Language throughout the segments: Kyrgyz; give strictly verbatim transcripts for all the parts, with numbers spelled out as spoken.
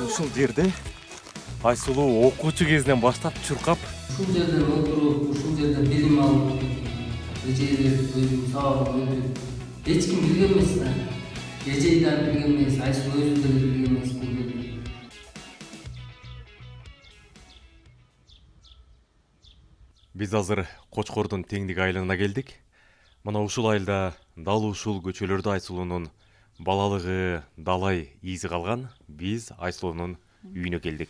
Ушул жерде Айсулуу окуучу кезинен баштап чуркап, ушул жерден отуруп, ушул жерден билим алып, эжелер өзүнүн сабагын өтүп, эч ким билген эмес да. Эжей да билген эмес, Айсулуу өзү деле билген эмес бул жерде. Биз азыр Кочкордун Теңдик айылына келдик. Мына ушул айылда дал ушул көчөлөрдө Айсулуунун балалыгы, далай изи калган. Биз Айсулуунун үйүнө келдик.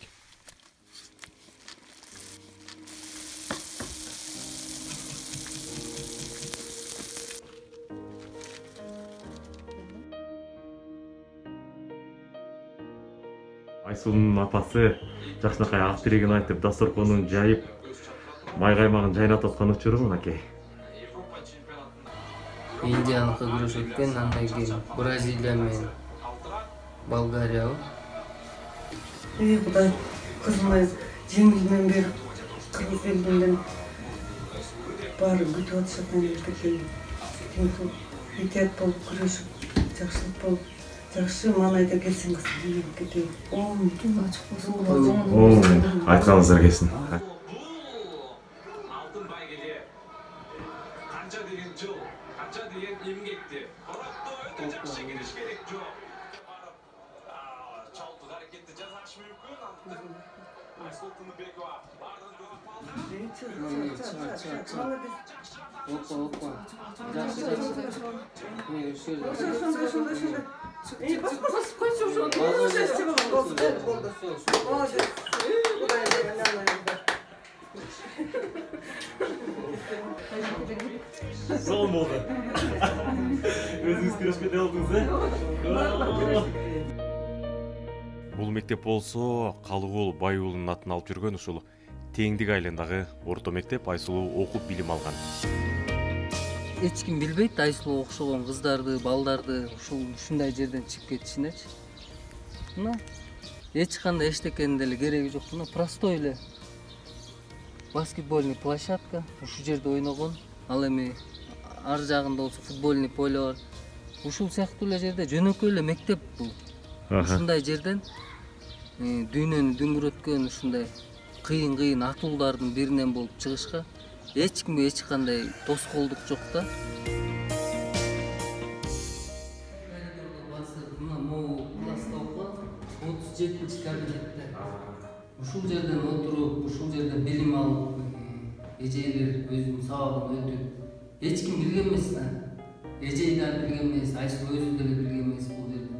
Айсулуунун апасы жакшынакай ак тилегин айтып, дасторконун жайып, май каймагын жайнатып аткан учуру мынакей. Индияныкы күрөш өткөн, андан кийин Бразилия менен Болгария. Эй Кудай, кызымай жеңилмен берип, кыргыз элинен баары күтүп атышат мамлекеттен. Этият болуп күрөшүп, жакшылык болуп, жакшы маанайда келсин кызым мамлекетке. О, түн ачык болсун. Айтканыңыздар келсин. Опа, опа. Жакшы, жакшы. Эмне ушул жерде? Эй, бас бас койчу ошону. Болду, болду. Молодец. Кудай Зол болду. Өзүңүз күрөшкөндөй болдуңуз, э? Бул мектеп болсо Калыгул Байуулунун атын алып жүргөн ушул Теңдик айылындагы орто мектеп. Айсулуу окуп билим алган. Эч ким билбейт Айсулуу окшогон кыздарды, балдарды ушул ушундай жерден чыгып кетишинечи. Мына эч кандай эчтекенин деле кереги жок. Мына простой эле баскетбольный площадка, ушул жерде ойногон. Ал эми ар жагында болсо футбольный поле бар. Ушул сыяктуу эле жерде жөнөкөй эле мектеп бул. Ушундай жерден дүйнөнү дүңгүрөткөн ушундай кыйын-кыйын атуулардын биринен болуп чыгышка эч кимге эч кандай тоскоолдук жок да. Мына могу класста окуп, отуз жетинчи кабинетте. Ушул жерден отуруп, ушул жерден билим алып, эжелер өзүнүн сабагын өтүп, эч ким билген эмес да. Эжей да билген эмес, Айсулуу өзү деле билген эмес бул жерде.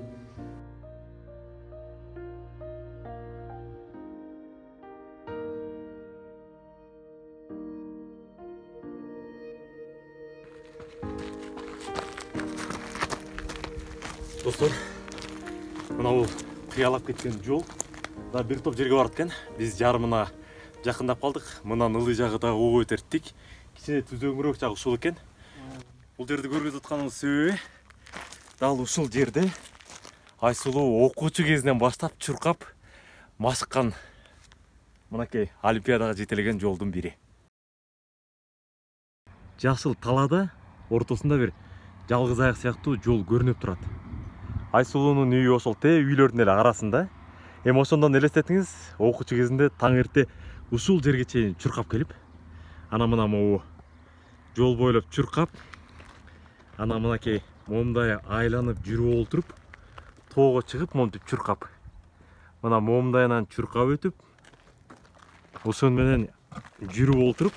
Достор, мына бул кыялап кеткен жол да бир топ жерге барат экен. Биз жарымына жакындап калдык. Мындан ылый жагы да ого өтөр тик. Кичине түзөңүрөөк жагы ушул экен. Бул жерди көргөзүп атканыбыз себеби дал ушул жерде Айсулуу окуучу кезинен баштап чуркап машыккан мынакей олимпиадага жетелеген жолдун бири. Жашыл талаада ортосунда бир жалгыз аяк сыяктуу жол көрүнүп турат. Айсулуунун үйү ошол тээ үйлөрдүн эле арасында. Эми ошондон элестетиңиз, окуучу кезинде таң эрте ушул жерге чейин чуркап келип, ана мына могу жол бойлоп чуркап, ана мынакей момундай айланып жүрүп олтуруп, тоого чыгып монтип чуркап. Мына момундайынан чуркап өтүп, ошон менен жүрүп олтуруп,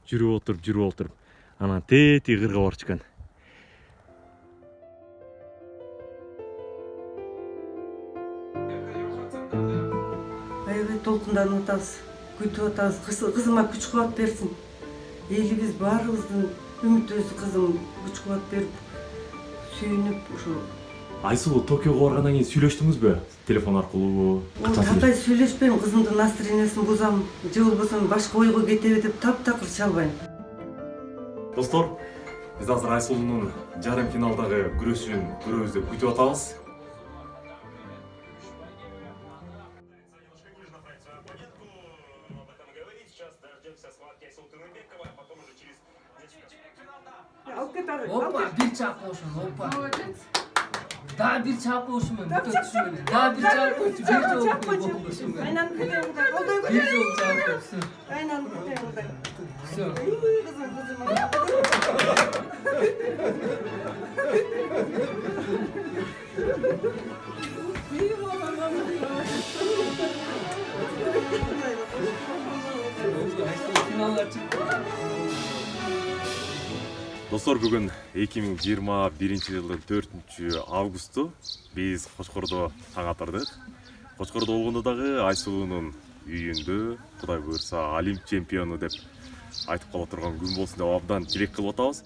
жүрүп отуруп, жүрүп отуруп, анан тети кырга барып чыккан. Аябай толкунданып атабыз, күтүп атабыз. Кызыма күч кубат берсин. Элибиз баарыбыздын үмүтүбүз кызым күч кубат берип, сүйүнүп ушул. Айсулуу Токиого баргандан кийин сүйлөштүңүзбү? Телефон аркылуу? Кандай сүйлөшпөйм, кызымдын настроениясын бузам, же болбосо башка ойго кетеби деп таптакыр чалбайм. Достор, биз азыр Айсулуунун жарым финалдагы күрөшүн көрөбүз деп күтүп атабыз. Алып кет ары. Опа, бир чакпошун, опа. Да бир чакпошун менен бүтө түшү менен. Да бир чакпошун, бир жол чакпошун. Айнанып кетем кудай. Колдой Бир көрсө. жол чакпошун. Айнанып кетем кудай. Всё. Кызым, кызым. Финалга чыкты. Достор, бүгүн эки миң жыйырма биринчи жылдын төртүнчү августу биз Кочкордо таң атырдык. Кочкордо болгондо дагы Айсулуунун үйүндө Кудай буйрса Олимп чемпиону деп айтып кала турган күн болсун деп абдан тилек кылып атабыз.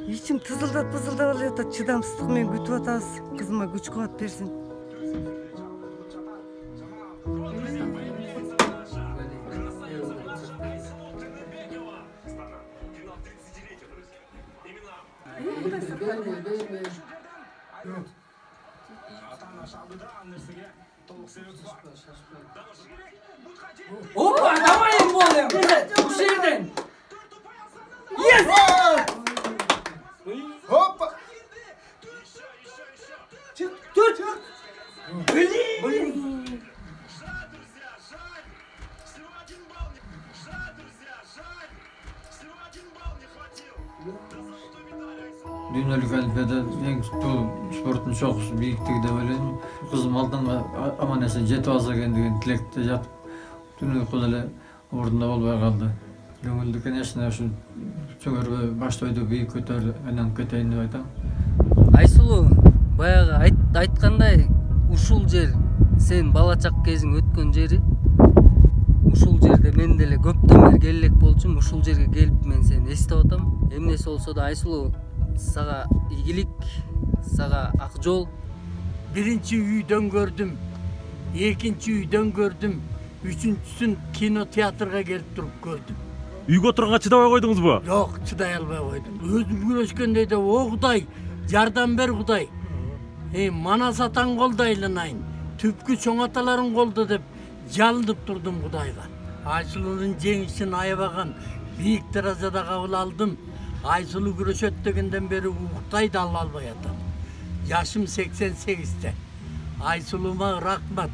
Ичим тызылдап пызылдап эле атат, чыдамсыздык менен күтүп атабыз. Кызыма күч кубат берсин. Опа, давай им болем. Ушул жерден. Yes! Hoppa! Çık, dur. Блин. Дүйнөлүк олимпиада эң бул спорттун чогусу бийиктиги деп ойлойм. Кызым алдыңга аман эсен жетип алса экен деген тилекте жатып, түн уйку деле ордунда болбой калды. Көңүлдү, конечно, ушу чөңөрбө баштойду бийик көтөрүп айланып кетейин деп айтам. Айсулуу, баягы айт, айткандай ушул жер сен бала чак кезиң өткөн жери. Ушул жерде мен деле көптөн бери келек болчумун. Ушул жерге келип мен сени эстеп атам. Эмнеси болсо да Айсулуу, сага ийгилик, сага ак жол. Биринчи үйдөн көрдүм, экинчи үйдөн көрдүм, үчүнчүсүн кинотеатрга келип туруп көрдүм. Үйгө отурганга чыдабай койдуңузбу? Жок, чыдай албай койдум. Өзүм күрөшкөндөй да, о Кудай, жардам бер Кудай. Эй, Манас атаң колдойлунайын, түпкү чоң аталарың колдо деп жалынып турдум Кудайга. Айсулуунун жеңишин аябаган бийик даражада кабыл алдым. Айсулуу күрөшөт дегенден бери уктай да ала албай атам. Жашым сексен сегизде. Айсулуума рахмат.